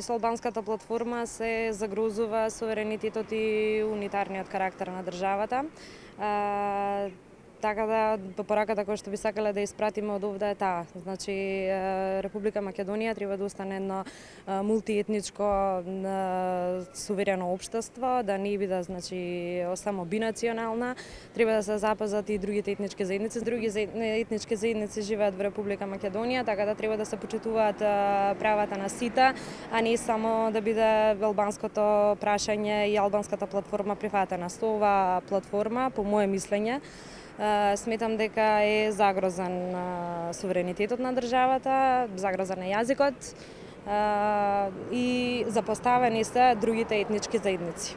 Со албанската платформа се загрозува суверенитетот и унитарниот карактер на државата. Така да, пораката која што би сакале да испратиме од овде е таа. Значи, Република Македонија треба да остане едно мултиетничко суверено општество, да не биде само бинационална. Треба да се запазат и другите етнички заедници. Други етнички заедници живеат во Република Македонија, така да треба да се почитуваат правата на сите, а не само да биде албанското прашање и албанската платформа прифатена. Со оваа платформа, по мое мислење, сметам дека е загрозен суверенитетот на државата, загрозен е јазикот и запоставени се другите етнички заедници.